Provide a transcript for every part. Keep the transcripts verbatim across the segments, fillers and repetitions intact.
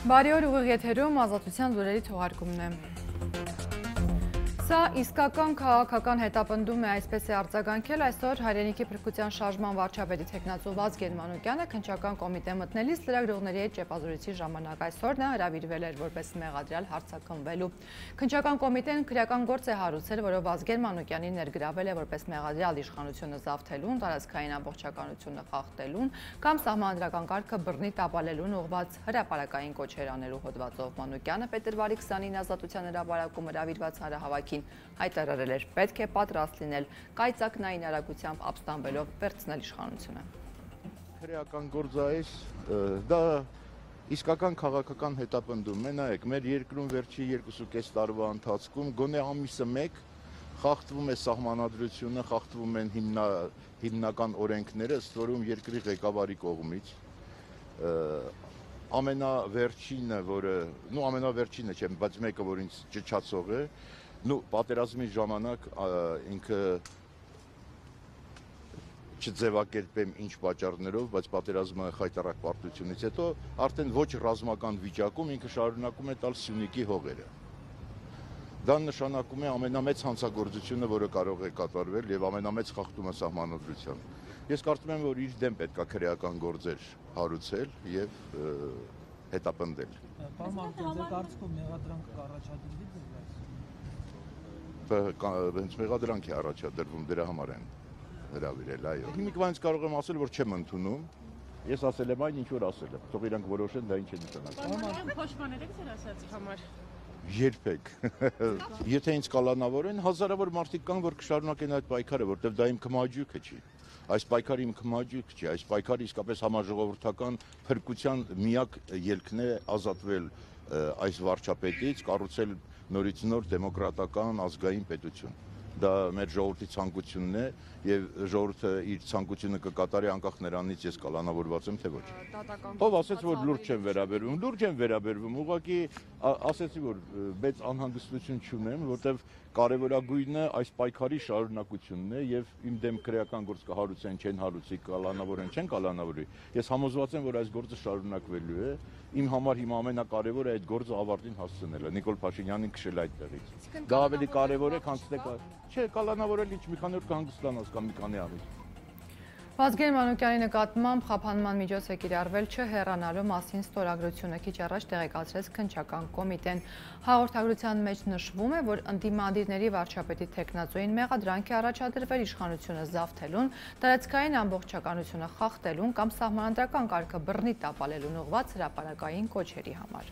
Բարի օր, ուղիղ եթերում Ազատության լուրերի թողարկումն է։ Սա իսկական քաղաքական հետապնդում է, այսպես է արձագանքել այսօր Հայրենիքի փրկության շարժման վարչապետի թեկնածու Վազգեն Մանուկյանը քննչական կոմիտե մտնելիս լրագրողների հետ ճեպազրույցի ժամանակ։ Այսօր նա հրավիրվել էր որպես մեղադրյալ հարցաքննվելու։ Քննչական կոմիտեն քրեական գործ է հարուցել, որով Վազգեն Մանուկյանին ներգրավել է որպես մեղադրյալ իշխանությունը զավթելուն, տարածքային ամբողջականությունը խախտելուն կամ սահմանադրական կարգը բռնի տապալելուն ուղղված հրապարակային կոչեր անելու հոդվածով։ Մանուկյանը փետրվարի քսանինը Ազատության հրապարակում հրավիրված հանրահավաքին հայտարարել էր, պետք է պատրաստ լինել կայծակնային արագությամբ ապստամբելով վերցնել իշխանությունը։ Քրեական գործայից դա իսկական քաղաքական հետապնդում է, նայեք, մեր երկրում վերջի երկուսուկես տարվա ընթացքում գոնե ամիսը մեկ խախտվում է սահմանադրությունը, խախտվում են հիմնա, հիմնական օրենքները, ըստ որում երկրի ղեկավարի կողմից ամենավերջինը, որը, նու ամենավերջինը չեմ, բայց մեկը, որ ինձ ճչացող է, նու պատերազմի ժամանակ ինքը չձևակերպեմ ինչ պատճառներով, բայց պատերազմը խայտառակ պարտությունից հետո արդեն ոչ ռազմական վիճակում ինքը շարունակում է տալ Սյունիքի հողերը։ Դա նշանակում է ամենամեծ հանցագործությունը, որը կարող է կատարվել եւ ամենամեծ խախտումը սահմանադրության։ Ես կարծում եմ, որ իր դեմ պետք է քրեական գործեր հարուցել եւ հետապնդել։ Կարծում մեղադրանք կառաջադրվի հենց մեղադրանք է առաջադրվում, դրա համար են հրավիրել, այո։ Հիմիկվանից կարող եմ ասել, որ չեմ ընդունում, ես ասել եմ այն, ինչ որ ասել եմ, թող իրանք որոշեն, դա ինչ է նշանակում։ Փոշմաներեք ձեր ասածի համար։ Երբեք։ Եթե ինձ կալանավորեն, հազարավոր մարդիկ կան, որ կշարունակեն այդ պայքարը, որտեղ դա իմ քմահաճույքը չի։ Այս պայքարը իմ քմահաճույք չի, այս պայքարը իսկապես համաժողովրդական փրկության միակ ելքն է ազատվել այս վարչապետից, կառուցել նորից նոր դեմոկրատական ազգային պետություն։ Դա մեր ժողովրդի ցանկությունն է եւ ժողովուրդը իր ցանկությունը կկատարի անկախ նրանից ես կալանավորված եմ թե ոչ։ Ով ասեց, որ լուրջ չեմ վերաբերվում, լուրջ եմ վերաբերվում, ուղղակի ասեցի, որ մեծ անհանգստություն չունեմ, որտեվ կարևորագույնը այս պայքարի շարունակությունն է եւ իմ դեմ քրեական գործ կհարուցեն, չեն հարուցի, կալանավորեն, չեն կալանավորի։ Ես համոզված եմ, որ այս գործը շարունակվելու է։ Իմ համար հիմա ամենակարևորը այդ գործը ավարտին հասցնելը, Նիկոլ Փաշինյանին քշել այդտեղից։ Դա ավելի կարևոր է, քան թե չէ, կալանավորել ինչ մի քանի օր կհանգստանաս կամ մի քանի ամիս։ Վազգեն Մանուկյանի նկատմամբ խափանման միջոց է կիրառվել չհեռանալու մասին ստորագրությունը քիչ առաջ տեղեկացրեց քննչական կոմիտեն։ Հաղորդագրության մեջ նշվում է, որ ընդդիմադիրների վարչապետի թեկնածուին մեղադրանք է առաջադրվել իշխանությունը զավթելուն, տարածքային ամբողջականությունը խախտելուն կամ սահմանադրական կարգը բռնի տապալելուն ուղղված հրապարակային կոչերի համար։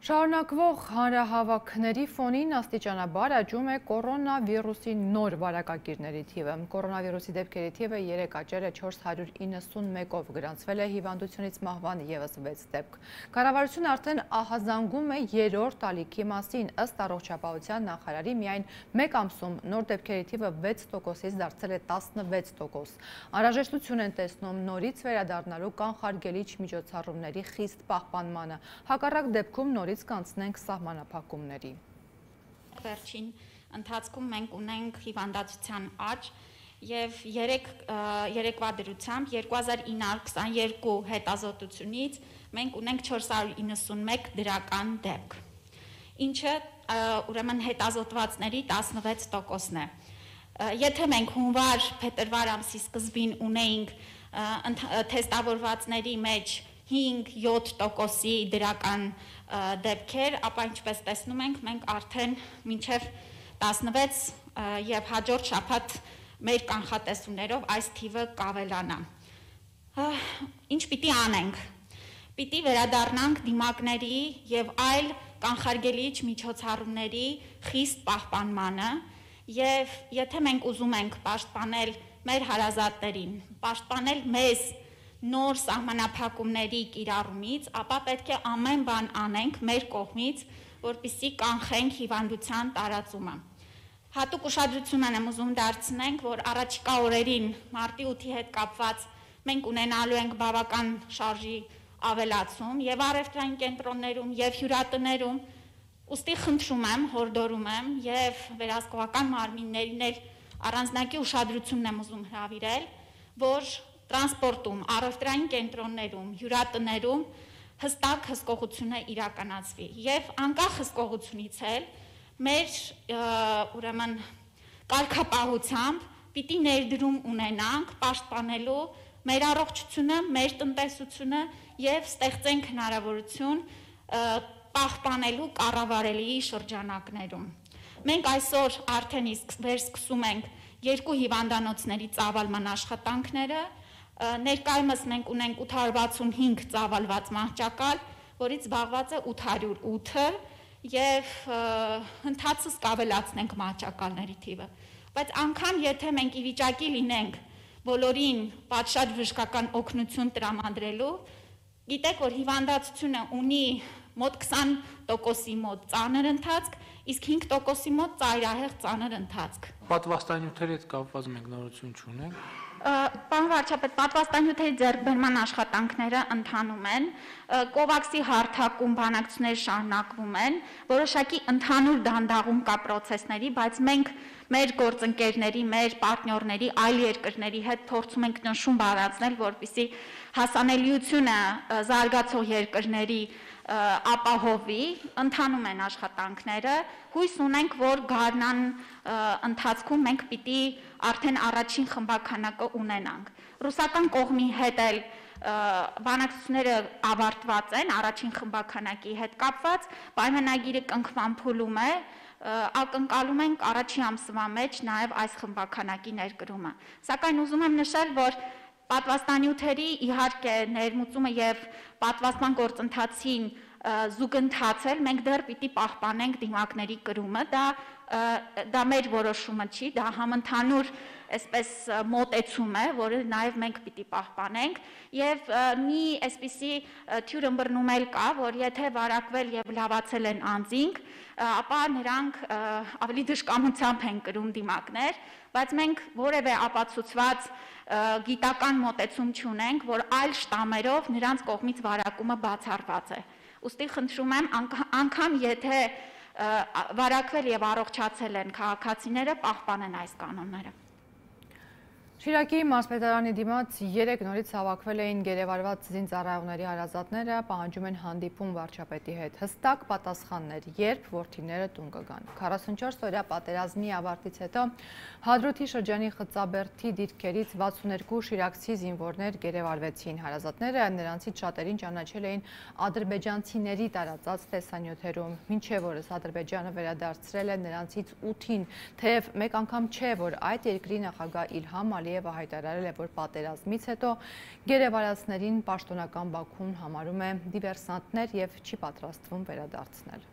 Շարունակվող հանրահավաքների ֆոնին աստիճանաբար աճում է կորոնավիրուսի նոր վարակագիրների թիվը։ Կորոնավիրուսի դեպքերի թիվը երեկ աճել է չորս հարյուր իննսունմեկով, գրանցվել է հիվանդությունից մահվան ևս վեց դեպք։ Կառավարությունը արդեն ահազանգում է երրորդ ալիքի մասին, ըստ առողջապահության նախարարի միայն մեկ ամսում նոր դեպքերի թիվը վեց տոկոսից դարձել է տասնվեց տոկոս։ Անհրաժեշտություն են տեսնում նորից վերադառնալու կանխարգելիչ միջոցառումների խիստ պահպանմանը, հակառակ դեպքում նորից կանցնենք սահմանափակումների։ Վերջին ընթացքում մենք ունենք հիվանդացության աճ եւ երեկվա դրությամբ երկու հազար ինը հարյուր քսաներկու հետազոտությունից մենք ունենք չորս հարյուր իննսունմեկ դրական դեպք, ինչը ուրեմն հետազոտվածների տասնվեց տոկոսն է։ Եթե մենք հունվար-փետրվար ամսի սկզբին ունեինք թեստավորվածների մեջ հինգ-յոթ տոկոսի դրական դեպքեր, ապա ինչպես տեսնում ենք, մենք արդեն մինչև տասնվեց եւ հաջորդ շաբաթ մեր կանխատեսումներով այս թիվը կավելանա։ Ինչ պիտի անենք։ Պիտի վերադառնանք դիմակների եւ այլ կանխարգելիչ միջոցառումների խիստ պահպանմանը եւ եթե մենք ուզում ենք պաշտպանել մեր հարազատներին, պաշտպանել մեզ նոր սահմանափակումների կիրառումից, ապա պետք է ամեն բան անենք մեր կողմից, որպեսզի կանխենք հիվանդության տարածումը։ Հատուկ ուշադրություն եմ ուզում դարձնենք, որ առաջիկա օրերին մարտի ութի հետ կապված մենք ունենալու ենք բավական շարժի ավելացում եւ առևտրային կենտրոններում եւ հյուրատներում, ուստի խնդրում եմ, հորդորում եմ եւ վերահսկողական մարմիններին էլ առանձնակի ուշադրությունն եմ ուզում հրավիրել, որ տրանսպորտում, առևտրային կենտրոններում, հյուրատներում հստակ հսկողություն է իրականացվի եւ անկախ հսկողությունից էլ մեր ուրեմն կարգապահությամբ պիտի ներդրում ունենանք պաշտպանելու մեր առողջությունը, մեր տնտեսությունը եւ ստեղծենք հնարավորություն պահպանելու կառավարելի շրջանակներում։ Մենք այսօր արդեն իսկ վերսկսում ենք երկու հիվանդանոցների ծավալման աշխատանքները, ներկայումս մենք ունենք ութ հարյուր վաթսունհինգ ծավալված մահճակալ, որից զբաղված է ութ հարյուր ութը եւ ընթացս կավելացնենք մահճակալների թիվը։ Բայց անգամ եթե մենք ի վիճակի լինենք բոլորին պատշաճ բժշկական օգնություն տրամադրելու, գիտեք, որ հիվանդացությունը ունի մոտ քսան տոկոսի մոտ ծանր ընթացք, իսկ հինգ տոկոսի մոտ ծայրահեղ ծանր ընթացք։ Պատվաստանյութերի հետ կապված մենք նորություն չունենք։ Պարոն վարչապետ, պատվաստանյութերի ձեռքբերման աշխատանքները ընթանում են, կովաքսի հարթակում բանակցություններ շարունակվում են, որոշակի ընդհանուր դանդաղում կա պրոցեսների, բայց մենք մեր գործընկերների, մեր պարտներների, այլ երկրների հետ փորձում ենք նշում բարձրացնել, որպեսզի հասանելիությունը զարգացող երկրների ապահովի, ընթանում են աշխատանքները, հույս ունենք, որ գարնան ընթացքում մենք պիտի արդեն առաջին խմբաքանակը ունենանք։ Ռուսական կողմի հետ էլ բանակցությունները ավարտված են, առաջին խմբաքանակի հետ կապված, պայմանագիրը կնքման փուլում է, ակնկալում ենք առաջին ամսվա մեջ նաև այս խմբաքանակի ներկրումը։ Սակայն ուզում եմ նշել, որ պատվաստանյութերի իհարկե ներմուծումը եւ պատվաստման գործընթացին զուգընթացել մենք դեռ պիտի պահպանենք դիմակների կրումը, դա դա մեր որոշումը չի, դա համընդհանուր այսպես մոտեցում է, որը նաև մենք պիտի պահպանենք եւ մի այսպիսի թյուր ըմբռնում էլ կա, որ եթե վարակվել եւ լավացել են անձինք, ապա նրանք ավելի դժկամությամբ են կրում դիմակներ, բայց մենք որևէ ապացուցված գիտական մոտեցում չունենք, որ այլ շտամերով նրանց կողմից վարակումը բացառված է։ Ուստի խնդրում եմ, անգամ եթե վարակվել եւ առողջացել են քաղաքացիները, պահպանեն այս կանոնները։ Շիրակի մարզպետարանի դիմաց երեք նորից հավաքվել էին գերեվարված զինծառայողների հարազատները, պահանջում են հանդիպում վարչապետի հետ։ Հստակ պատասխաններ, երբ որդիները տուն կգան։ քառասունչորս օրյա պատերազմի ավարտից հետո Հադրութի շրջանի Խծաբերդի դիրքերից վաթսուներկու շիրակցի զինվորներ գերեվարվեցին։ Հարազատները նրանցից շատերին ճանաչել էին ադրբեջանցիների տարածած տեսանյութերում։ Մինչև օրս Ադրբեջանը վերադարձրել է նրանցից ութին, թեև մեկ անգամ չէ, որ այդ երկրի նախագահ Իլհամ Ալիևը հայտարարել է, որ պատերազմից հետո գերեվարածներին պաշտոնական Բաքուն համարում է դիվերսանտներ եւ չի պատրաստվում վերադարձնել։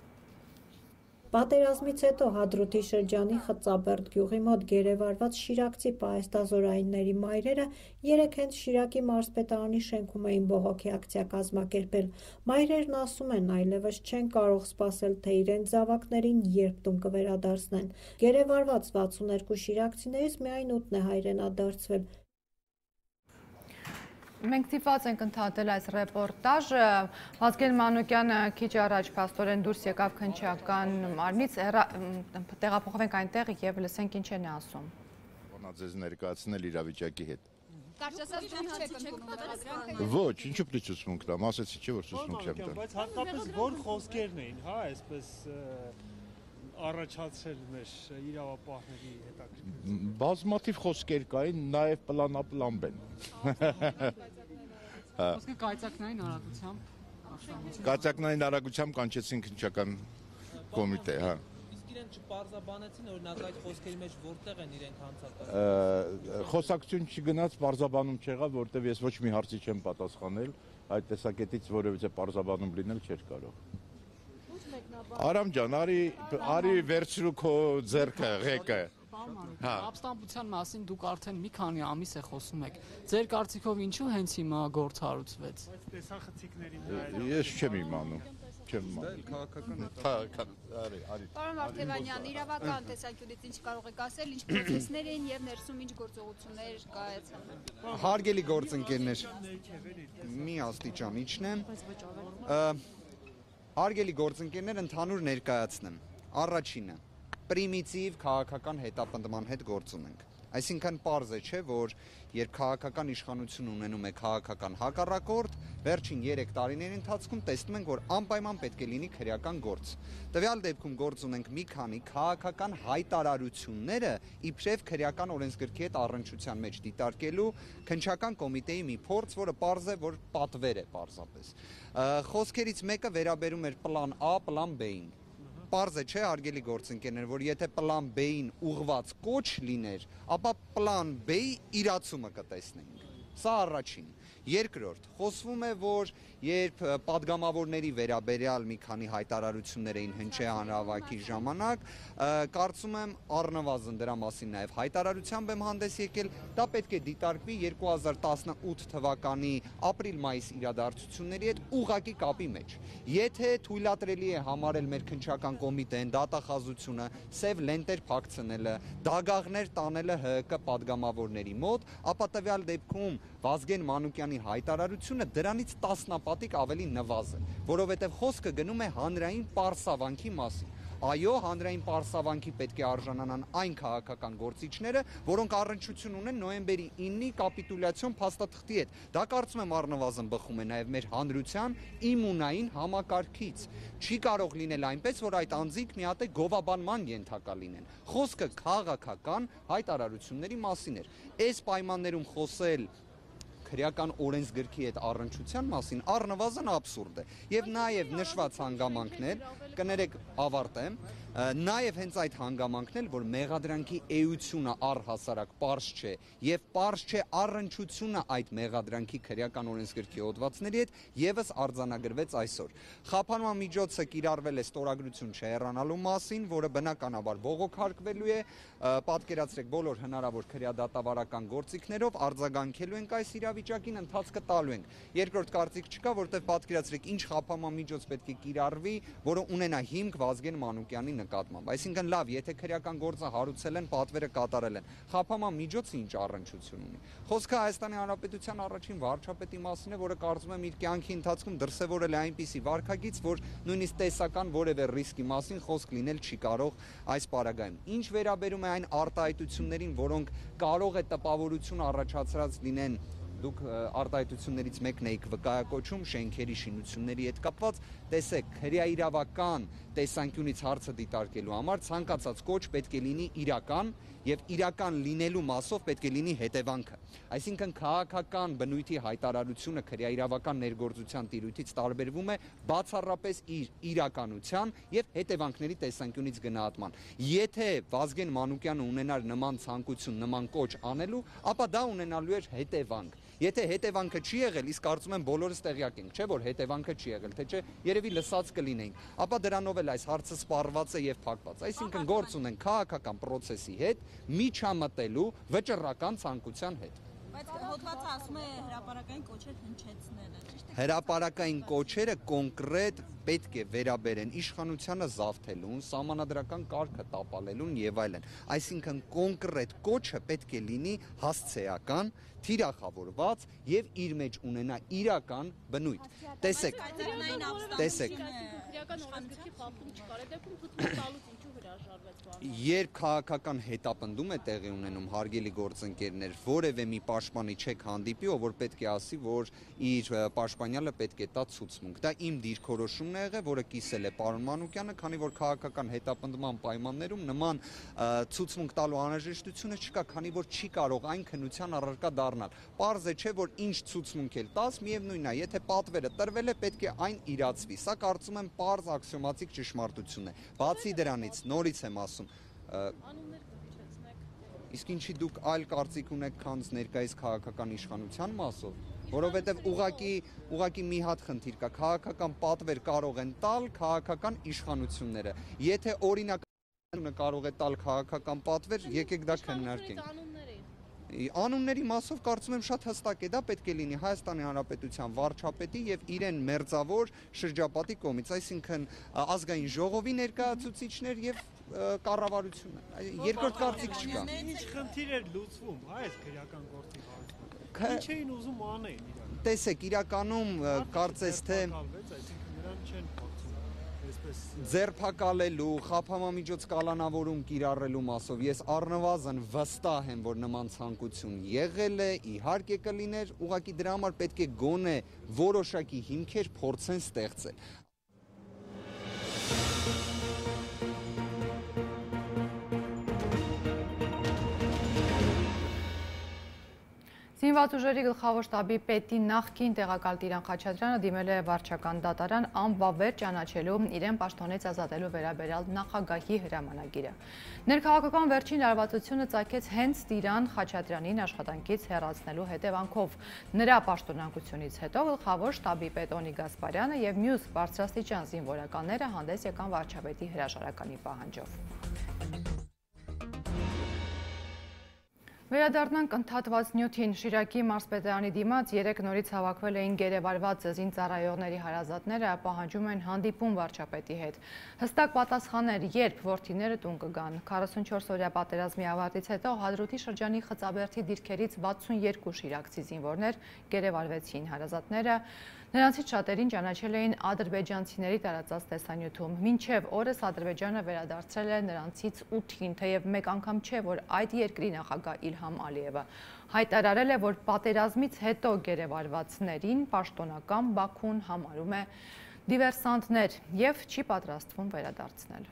Պատերազմից հետո Հադրութի շրջանի Խծաբերդ գյուղի մոտ գերեվարված շիրակցի պահեստազորայինների մայրերը երեկ հենց Շիրակի մարզպետարանի շենքում էին բողոքի ակցիա կազմակերպել։ Մայրերն ասում են, այլևս չեն կարող սպասել, թե իրենց զավակներին երբ տուն կվերադարձնեն։ Գերեվարված վաթսուներկու շիրակցիներից միայն ութն է հայրենադարձվել։ Մենք ստիպված ենք ընդհատել այս ռեպորտաժը։ Վազգեն Մանուկյանը քիչ առաջ փաստորեն դուրս եկավ քննչական մարմնից, տեղափոխվենք այնտեղ եւ լսենք ինչ են ասում։ Ոնա ձեզ ներկայացնել իրավիճակի հետ։ Կարճասած դուք չեք ընդունում։ Ոչ, ինչու՞ պիտի ցուցմունք տամ, ասեցի չէ որ ցուցմունք չեմ տա։ Բայց հատկապես որ խոսքերն էին, հա, այսպես առաջացրել մեր իրավապահների հետաքրքիր։ Բազմաթիվ խոսքեր կային, նաև պլանապլան են։ Խոսքը կայծակնային արագությամբ։ Կայծակնային արագությամբ կանչեցին քննչական կոմիտե, հա։ Իսկ իրենք չպարզաբանեցին, օրինակ այդ խոսքերի մեջ որտեղ են իրենք հանցակացել։ Խոսակցություն չգնաց, պարզաբանում չեղավ, որտեղ ես ոչ մի հարցի չեմ պատասխանել, այդ տեսակետից որևիցե պարզաբանում լինել չէր կարող։ Արամ ջան, արի արի վերցրու քո ձեռքը, ղեկը։ Ապստամբության մասին դուք արդեն մի քանի ամիս է խոսում եք։ Ձեր կարծիքով ինչու հենց հիմա գործ հարուցվեց։ Տեսախցիկներին Ես չեմ իմանում, չեմ իմանում։ Քաղաքական արի, արի։ Պարոն Վարդևանյան, իրավական տեսանկյունից ինչ կարող եք ասել, ինչ պրոցեսներ են եւ ներսում ինչ գործողություններ կայացան։ Հարգելի գործընկերներ, մի աստիճան իջնեմ։ Հարգելի գործընկերներ, ընդհանուր ներկայացնեմ։ Առաջինը, պրիմիտիվ քաղաքական հետապնդման հետ գործ ունենք։ Այսինքն պարզ է, չէ, որ երբ քաղաքական իշխանություն ունենում է քաղաքական հակառակորդ, վերջին երեք տարիների ընթացքում տեսնում ենք, որ անպայման պետք է լինի քրեական գործ։ Տվյալ դեպքում գործ ունենք մի քանի քաղաքական հայտարարությունները իբրև քրեական օրենսգրքի հետ առնչության մեջ դիտարկելու քննչական կոմիտեի մի փորձ, որը պարզ է, որ պատվեր է պարզապես։ Խոսքերից մեկը վերաբերում էր պլան A, պլան B-ին։ Պարզ է, չէ, հարգելի գործընկերներ, որ եթե պլան B-ին ուղղված կոչ լիներ, ապա պլան B-ի իրացումը կտեսնենք։ Սա առաջին։ Երկրորդ, խոսվում է, որ երբ պատգամավորների վերաբերյալ մի քանի հայտարարություններ էին հնչե հանրահավաքի ժամանակ, կարծում եմ առնվազն դրա մասին նաև հայտարարությամբ եմ հանդես եկել, դա պետք է դիտարկվի երկու հազար տասնութ թվականի ապրիլ-մայիս իրադարձությունների հետ ուղղակի կապի մեջ։ Եթե թույլատրելի է համարել մեր քննչական կոմիտեն, դատախազությունը, սև լենտեր փակցնելը, դագաղներ տանելը H K պատգամավորների մոտ, ապա տվյալ դեպքում Վազգեն Մանուկյանի հայտարարությունը դրանից տասնապատիկ ավելի նվազ է, որովհետև խոսքը գնում է հանրային պարսավանքի մասին։ Այո, հանրային պարսավանքի պետք է արժանանան այն քաղաքական գործիչները, որոնք առնչություն ունեն նոյեմբերի իննի կապիտուլյացիոն փաստաթղթի հետ։ Դա կարծում եմ առնվազն բխում է նաև մեր հանրության իմունային համակարգից։ Չի կարող լինել այնպես, որ այդ անձինք մի հատ է գովաբանման ենթակա լինեն։ Խոսքը քաղաքական հայտարարությունների մասին էր։ Այս պայմաններում խոսել քրեական օրենսգրքի հետ առնչության մասին առնվազն աբսուրդ է։ Եվ նաև նշված հանգամանքներ, կներեք ավարտեմ, նաև հենց այդ հանգամանքն էլ, որ մեղադրանքի էությունը առհասարակ պարզ չէ եւ պարզ չէ առնչությունը այդ մեղադրանքի քրեական օրենսգրքի հոդվածների հետ, եւս արձանագրվեց այսօր։ Խափանման միջոցը կիրառվել է ստորագրություն չհեռանալու մասին, որը բնականաբար բողոքարկվելու է, պատկերացրեք բոլոր հնարավոր քրեադատավարական գործիքներով արձագանքելու ենք այս իրավիճակին, ընթացքը տալու ենք։ Երկրորդ կարծիք չկա, որտեղ պատկերացրեք ինչ խափանման միջոց պետք է կիրառվի, որը ունենա հիմք Վազգեն Մանուկյանի նկատմամբ։ Այսինքն լավ, եթե քրեական գործը հարուցել են, պատվերը կատարել են, խափանման միջոցը ինչ առնչություն ունի։ Խոսքը Հայաստանի Հանրապետության առաջին վարչապետի մասին է, որը կարծում եմ իր կյանքի ընթացքում դրսևորել է այնպիսի վարքագիծ, որ նույնիսկ տեսական որևէ ռիսկի մասին խոսք լինել չի կարող այս պարագայում։ Ինչ վերաբերում է այն արտահայտություններին, որոնք կարող է տպավորություն առաջացրած լինեն, դուք արտահայտություններից մեկն եք վկայակոչում շենքերի շինությունների հետ կապված, տեսեք, քրեաիրավական տեսանկյունից հարցը դիտարկելու համար ցանկացած կոչ պետք է լինի իրական եւ իրական լինելու մասով պետք է լինի հետևանքը։ Այսինքն քաղաքական բնույթի հայտարարությունը քրեաիրավական ներգործության տիրույթից տարբերվում է բացառապես իր իրականության եւ հետևանքների տեսանկյունից գնահատման։ Եթե Վազգեն Մանուկյանը ունենար նման ցանկություն, նման կոչ անելու, ապա դա ունենալու էր հետևանք։ Եթե հետևանքը չի եղել, իսկ կարծում եմ բոլորս տեղյակ ենք, չէ՞ որ հետևանքը չի եղել, թե չէ երևի լսած կլինեինք, ապա դրանով էլ այս հարցը սպառված է եւ փակված։ Այսինքն գործ ունենք քաղաքական process-ի հետ, միջամտելու վճռական ցանկության հետ։ Բայց հոդվածը ասում է հրապարակային կոչեր հնչեցնելը, ճիշտ է։ Հրապարակային կոչերը կոնկրետ պետք է վերաբերեն իշխանությանը զավթելուն, սահմանադրական կարգը տապալելուն եւ այլն։ Այսինքն կոնկրետ կոչը պետք է լինի հասցեական, թիրախավորված եւ իր մեջ ունենա իրական բնույթ։ Տեսեք, տեսեք, քրեական օրենսգրքի խախտում չկար, այդ դեպքում թույլ տալուց ինչու հրաժարվեց բանը։ Երբ քաղաքական հետապնդում է տեղի ունենում, հարգելի գործընկերներ, որևէ մի պաշտպանի չեք հանդիպի, ով որ պետք է ասի, որ իր պաշտպանյալը պետք է տա ցուցմունք։ Դա իմ դիրքորոշումն է եղել, որը կիսել է պարոն Մանուկյանը, քանի որ քաղաքական հետապնդման պայմաններում նման ցուցմունք տալու անհրաժեշտությունը չկա, քանի որ չի կարող այն քննության առարկա դառնալ։ Պարզ է, չէ, որ ինչ ցուցմունք էլ տաս, միևնույնն է, եթե պատվերը տրվել է, պետք է այն իրացվի։ Սա կարծում եմ պարզ աքսիոմատիկ ճշմարտություն է։ Բացի դրանից, նորից եմ ասում, Անուններ կհնչեցնեք։ իսկ ինչի դուք այլ կարծիք ունեք, քան ներկայիս քաղաքական իշխանության մասով, որովհետև ուղղակի ուղղակի մի հատ խնդիր կա, քաղաքական պատվեր կարող են տալ քաղաքական իշխանությունները։ Եթե օրինակ կարող է տալ քաղաքական պատվեր, եկեք դա քննարկենք։ Անունների մասով կարծում եմ շատ հստակ է, դա պետք է լինի Հայաստանի Հանրապետության վարչապետի եւ իրեն մերձավոր շրջապատի կողմից, այսինքն ազգային ժողովի ներկայացուցիչներ եւ կառավարությունը։ Երկրորդ կարծիք չկա։ Ինչ խնդիր էր լուծվում, հա, այս քրեական գործի հարցում։ Ինչ էին ուզում անել իրական։ Տեսեք, իրականում կարծես թե այսինքն նրան չեն փոխում։ այսպես ձերբակալելու, խափամամիջոց կալանավորում կիրառելու մասով ես առնվազն վստահ եմ, որ նման ցանկություն եղել է, իհարկե կլիներ, ուղղակի դրա համար պետք է գոնե որոշակի հիմքեր փորձեն ստեղծել։ Զինված ուժերի գլխավոր շտաբի պետի նախկին տեղակալ Տիրան Խաչատրյանը դիմել է վարչական դատարան անվավեր ճանաչելու իրեն պաշտոնից ազատելու վերաբերյալ նախագահի հրամանագիրը։ Ներքաղաքական վերջին լարվածությունը ծագեց հենց Տիրան Խաչատրյանին աշխատանքից հեռացնելու հետևանքով։ Նրա պաշտոնանկությունից հետո գլխավոր շտաբի պետ Օնիկ Գասպարյանը եւ մյուս բարձրաստիճան զինվորականները հանդես եկան վարչապետի հրաժարականի պահանջով։ Վերադառնանք ընդհատված նյութին Շիրակի մարզպետարանի դիմաց երեք նորից հավաքվել էին գերեվարված զինծառայողների հարազատները, պահանջում են հանդիպում վարչապետի հետ։ Հստակ պատասխաններ, երբ որդիները տուն կգան։ քառասունչորս օրյա պատերազմի ավարտից հետո Հադրութի շրջանի Խծաբերդի դիրքերից վաթսունյերկու շիրակցի զինվորներ գերեվարվեցին։ Հարազատները նրանցից շատերին ճանաչել էին ադրբեջանցիների տարածած տեսանյութում։ Մինչև օրս Ադրբեջանը վերադարձրել է նրանցից ութին, թեև մեկ անգամ չէ, որ այդ երկրի նախագահ Իլհամ Ալիևը հայտարարել է, որ պատերազմից հետո գերեվարվածներին պաշտոնական Բաքուն համարում է դիվերսանտներ և չի պատրաստվում վերադարձնել։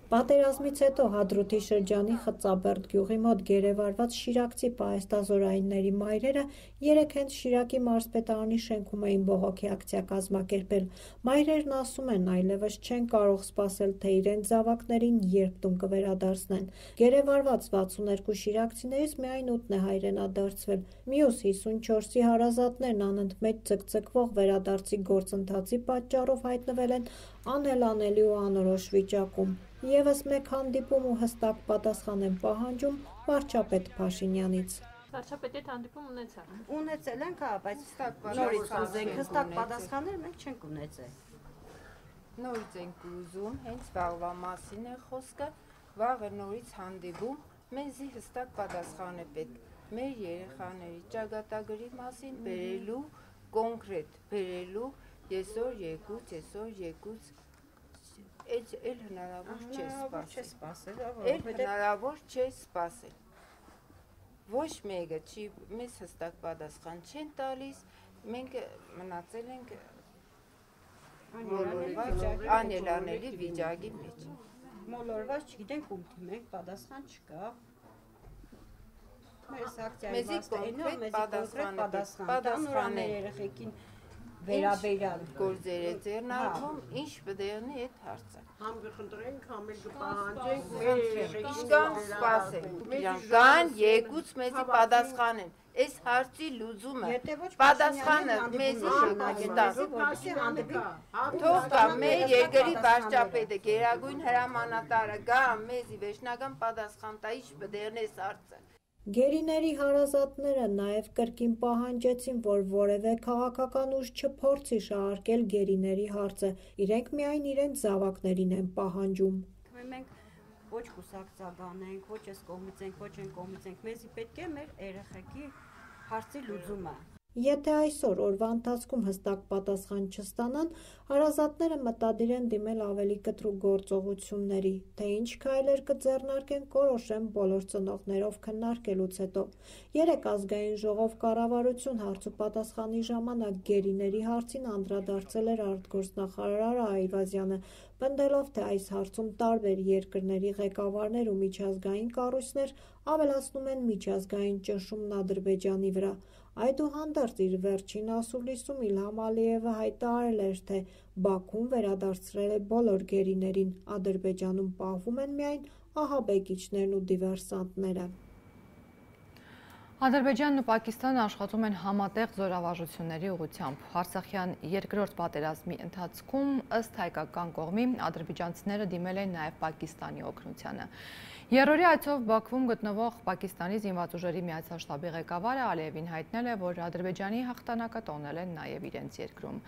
Պատերազմից հետո Հադրութի շրջանի Խծաբերդ գյուղի մոտ գերեվարված շիրակցի պահեստազորայինների մայրերը երեկ հենց Շիրակի մարզպետարանի շենքում էին բողոքի ակցիա կազմակերպել։ Մայրերն ասում են, այլևս չեն կարող սպասել, թե իրենց զավակներին երբ տուն կվերադարձնեն։ Գերեվարված վաթսունյերկու շիրակցիներից միայն ութն է հայրենադարձվել։ Մյուս հիսունչորսի հարազատներն անընդմեջ ձգձգվող վերադարձի գործընթացի պատճառով հայտնվել են անելանելի ու անորոշ վիճակում։ Եվս մեկ հանդիպում ու հստակ պատասխան են պահանջում վարչապետ Փաշինյանից։ Վարչապետի հետ հանդիպում ունեցա։ Ունեցել ենք, հա, բայց նորից ուզենք հստակ պատասխաններ մենք չենք ունեցել։ Նորից ենք ուզում, հենց վաղվա մասին է խոսքը, վաղը նորից հանդիպում, մեզի հստակ պատասխան է պետք։ Մեր երեխաների ճակատագրի մասին բերելու, կոնկրետ բերելու, եսօր եկուց, եսօր եկուց Էլ հնարավոր չէ սպասել, էլ հնարավոր չէ սպասել։ Ոչ մեկը չի, մեզ հստակ պատասխան չեն տալիս, մենք մնացել ենք անելանելի վիճակի մեջ։ Մոլորված չգիտենք ում թիմենք, պատասխան չկա։ Մեզի կոնկրետ պատասխան պատասխան է երեխեքին վերաբերյալ գործերը ձեռնարկում, ինչ բդեղնի այդ հարցը։ Համ կխնդրենք, համ էլ կպահանջենք, Իշկան սպասենք, կան եկուց մեզի պատասխանեն, այս հարցի լուծումը, պատասխանը մեզի շնագետան, թող կա մեր երկրի վարչապետը, գերագույն հրամանատարը գա մեզի վերջնական պատասխան տա, ինչ բդեղնի այս հարցը։ Գերիների հարազատները նաև կրկին պահանջեցին, որ որևէ քաղաքական ուժ չփորձի շահարկել գերիների հարցը, իրենք միայն իրենց զավակներին են պահանջում։ Մենք ոչ կուսակցական ենք, ոչ այս կողմից ենք, ոչ այն կողմից ենք, մեզի պետք է մեր երեխեքի հարցի լուծումը։ Եթե այսօր օրվա ընթացքում հստակ պատասխան չստանան, հարազատները մտադիր են դիմել ավելի կտրուկ գործողությունների, թե ինչ քայլեր կձեռնարկեն, կորոշեն բոլոր ծնողներով քննարկելուց հետո։ Երեկ ազգային ժողով կառավարություն հարց ու պատասխանի ժամանակ գերիների հարցին անդրադարձել էր արտգործնախարար Այվազյանը, պնդելով, թե այս հարցում տարբեր երկրների ղեկավարներ ու միջազգային կառույցներ ավելացնում են միջազգային ճնշումն Ադրբեջանի վրա։ Այդուհանդերձ իր վերջին ասուլիսում Իլհամ Ալիևը հայտարարել էր, թե Բաքուն վերադարձրել է բոլոր գերիներին, Ադրբեջանում պահվում են միայն ահաբեկիչներն ու դիվերսանտները։ Ադրբեջանն ու Պակիստանը աշխատում են համատեղ զորավարժությունների ուղղությամբ։ Արցախյան երկրորդ պատերազմի ընթացքում ըստ հայկական կողմի ադրբեջանցիները դիմել են նաև Պակիստանի օգնությանը։ Երրորդի այցով Բաքվում գտնվող Պակիստանի զինված ուժերի միացյալ շտաբի ղեկավարը Ալիևին հայտնել է, որ Ադրբեջանի հաղթանակը տոնել են նաև իրենց երկրում։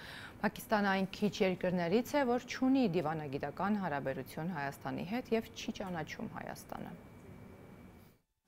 Պակիստանը այն քիչ երկրներից է, որ չունի դիվանագիտական հարաբերություն Հայաստանի հետ և չի ճանաչում Հայաստանը։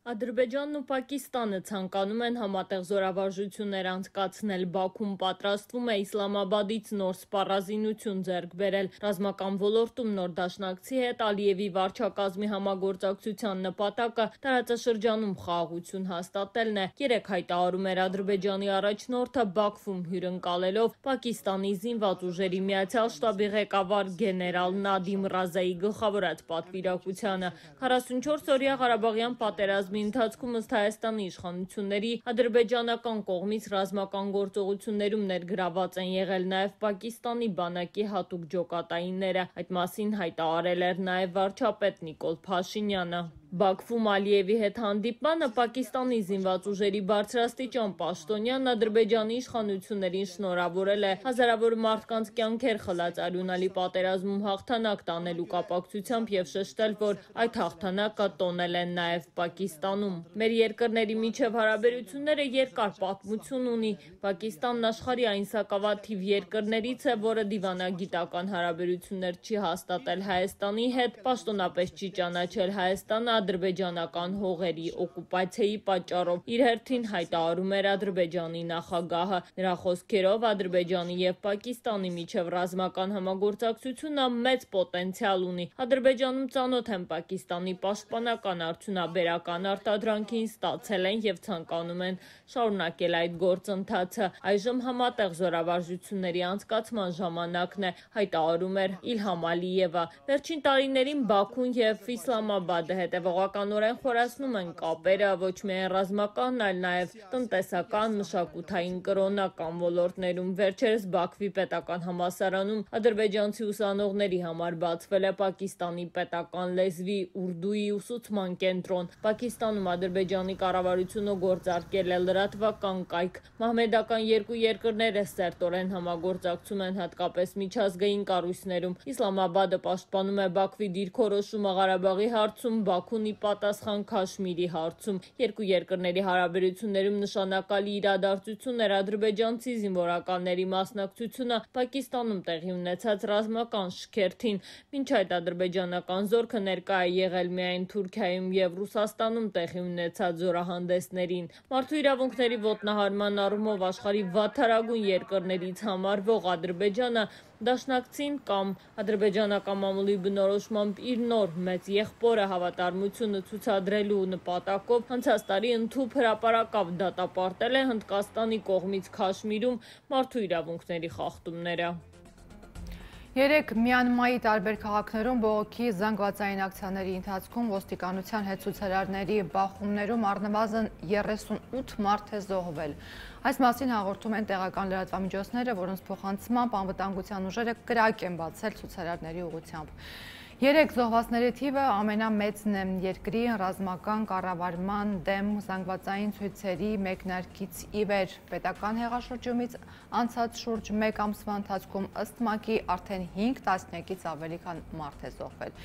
Ադրբեջանն ու Պակիստանը ցանկանում են համատեղ զորավարժություններ անցկացնել։ Բաքուն պատրաստվում է Իսլամաբադից նոր սպառազինություն ձեռք բերել։ Ռազմական ոլորտում նոր դաշնակցի հետ Ալիևի վարչակազմի համագործակցության նպատակը տարածաշրջանում խաղաղություն հաստատելն է։ Երեք հայտարարում էր Ադրբեջանի առաջնորդը Բաքվում հյուրընկալելով Պակիստանի զինված ուժերի Միացյալ շտաբի ղեկավար գեներալ Նադիմ Ռազայի գլխավորած պատվիրակությանը։ քառասունչորս օրյա Ղարաբաղյան պատերազմի ընթացքում ըստ Հայաստանի իշխանությունների ադրբեջանական կողմից ռազմական գործողություններում ներգրաված են եղել նաև Պակիստանի բանակի հատուկ ջոկատայինները։ Այդ մասին հայտարարել էր նաև վարչապետ Նիկոլ Փաշինյանը։ Բաքվում Ալիևի հետ հանդիպմանը Պակիստանի զինված ուժերի բարձրաստիճան պաշտոնյան Ադրբեջանի իշխանություններին շնորհավորել է հազարավոր մարդկանց կյանքեր խլած արյունալի պատերազմում հաղթանակ տանելու կապակցությամբ եւ շեշտել, որ այդ հաղթանակը տոնել են նաև Պակիստանում։ Մեր երկրների միջև հարաբերությունները երկար պատմություն ունի։ Պակիստանն աշխարհի այն սակավաթիվ երկրներից է, որը դիվանագիտական հարաբերություններ չի հաստատել Հայաստանի հետ, պաշտոնապես չի ճանաչել Հայաստանը ադրբեջանական հողերի օկուպացիայի պատճառով։ Իր հերթին հայտարարում էր Ադրբեջանի նախագահը։ Նրա խոսքերով Ադրբեջանի եւ Պակիստանի միջև ռազմական համագործակցությունը մեծ պոտենցիալ ունի։ Ադրբեջանում ծանոթ են Պակիստանի պաշտպանական արդյունաբերական արտադրանքին, ստացել են եւ ցանկանում են շարունակել այդ գործընթացը։ Այժմ համատեղ զորավարժությունների անցկացման ժամանակն է, հայտարարում էր Իլհամ Ալիևը։ Վերջին տարիներին Բաքուն եւ Իսլամաբադը հետևողականորեն խորացնում են կապերը ոչ միայն ռազմական, այլ նաև տնտեսական, մշակութային, կրոնական ոլորտներում։ Վերջերս Բաքվի պետական համալսարանում ադրբեջանցի ուսանողների համար բացվել է Պակիստանի պետական լեզվի ուրդուի ուսուցման կենտրոն։ Պակիստանում Ադրբեջանի կառավարությունը գործարկել է լրատվական կայք։ Մահմեդական երկու երկրները սերտորեն համագործակցում են հատկապես միջազգային կառույցներում։ Իսլամաբադը պաշտպանում է Բաքվի դիրքորոշումը Ղարաբաղի հարցում, Բաքուն ի պատասխան Քաշմիրի հարցում։ Երկու երկրների հարաբերություններում նշանակալի իրադարձություն էր ադրբեջանցի զինվորականների մասնակցությունը Պակիստանում տեղի ունեցած ռազմական շքերթին։ Մինչ այդ ադրբեջանական զորքը ներկա է եղել միայն Թուրքիայում եւ Ռուսաստանում տեղի ունեցած զորահանդեսներին։ Մարդու իրավունքների ոտնահարման առումով աշխարհի վատթարագույն երկրներից համարվող Ադրբեջանը դաշնակցին կամ ադրբեջանական մամուլի բնորոշմամբ իր նոր մեծ եղբորը հավատարմությունը ցուցադրելու նպատակով անցած տարի ընդհուպ հրապարակավ դատապարտել է Հնդկաստանի կողմից Քաշմիրում մարդու իրավունքների խախտումները։ Երեք Մյանմայի տարբեր քաղաքներում բողոքի զանգվածային ակցիաների ընթացքում ոստիկանության հետ ցուցարարների բախումներում առնվազն երեսունութ մարդ է զոհվել։ Այս մասին հաղորդում են տեղական լրատվամիջոցները, որոնց փոխանցմամբ անվտանգության ուժերը կրակ են բացել ցուցարարների ուղղությամբ։ Երեք զոհվածների թիվը ամենամեծն է երկրի ռազմական կառավարման դեմ զանգվածային ցույցերի մեկնարկից ի վեր։ Պետական հեղաշրջումից անցած շուրջ մեկ ամսվա ընթացքում ըստ ՄԱԿ-ի արդեն հինգ տասնյակից ավելի քան մարդ է զոհվել։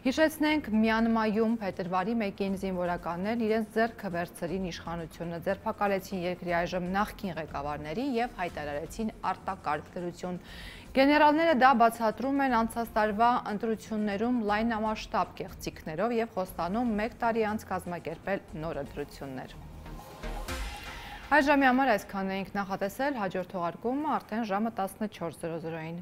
Հիշեցնենք, Մյանմայում փետրվարի մեկին զինվորականներն իրենց ձեռքը վերցրին իշխանությունը, ձերբակալեցին երկրի այժմ նախկին ղեկավարների եւ հայտարարեցին արտակարգ դրություն։ Գեներալները դա բացատրում են անցած տարվա ընտրություններում լայնամասշտաբ կեղծիքներով եւ խոստանում մեկ տարի անց կազմակերպել նոր ընտրություններ։ Այս ժամի համար այսքանն էինք նախատեսել, հաջորդ թողարկումը արդեն ժամը տասնչորս զրո զրոյին։